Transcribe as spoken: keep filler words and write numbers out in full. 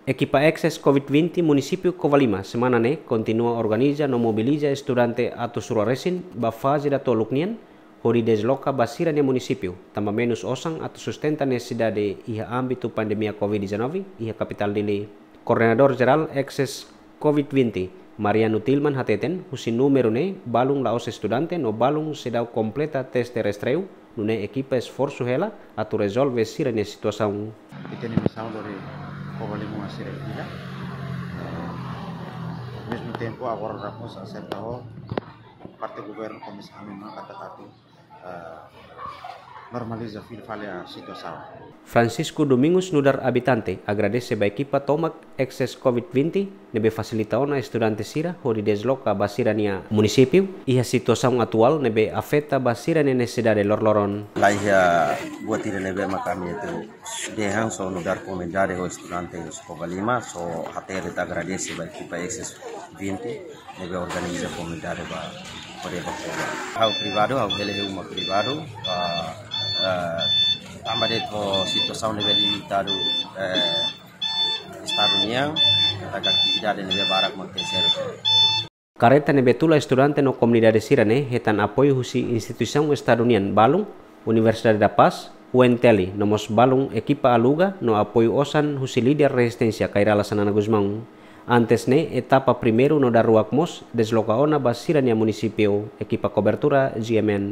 Ekipa Access COVID vinte Munisípiu Covalima semana ne'e kontinua organiza no mobiliza estudante atus rua resin ba faze datoluk nian, hodi desloka ba sira-nia munisípiu, tanba menus osan atu sustenta nesesidade iha ámbitu pandemia COVID dezanove iha kapitál Dili. Koordenadór Jerál Access COVID vinte, Mariano Tilman hateten, husi númeru ne'e balun la'ós estudante no balun seidauk kompleta teste rastreiu, nune'e ekipa esforsu hela atu rezolve sira-nia situasaun. Ita-nia misaun lori Covalima sira iha. Ao mesmo tempo, agora nós acerta ho parte governu komesa ami maka tatu, eh, normaliza fila fali situasaun. Francisco Domingos nu'udar abitante agradese ba ekipa tomak Access COVID vinte ne'ebé fasilita ona estudante sira hodi desloka ba sira-nia munisípiu iha situasaun atuál ne'ebé afeta ba sira-nia nesesidade loroloron. Laiha buat ida ne'ebé maka ami atu dehan só nu'udar komunidade ho estudante husi Covalima, só hatete agradese ba ekipa Access vinte ne'ebé organiza komunidade ba poder ba poder. Ha'u privadu, ha'u bele uma privadu, ba, eh, tanba de'it situasaun ne'ebé limitadu, eh, estadu nian, katak atividade ne'ebé barak akontese. Karreta ne'ebé tula estudante no komunidade sira-ne'e hetan apoiu husi instituisaun estadu nian balun, Universidade da Paz, U N T L, no mós balun ekipa aluga no apoiu osan husi líder rezisténsia Kay Rala Xanana Gusmão. Antes ne'e, etapa primeiru no daruak mós desloka ona ba sira-nia munisípiu, ekipa kobertura G M N.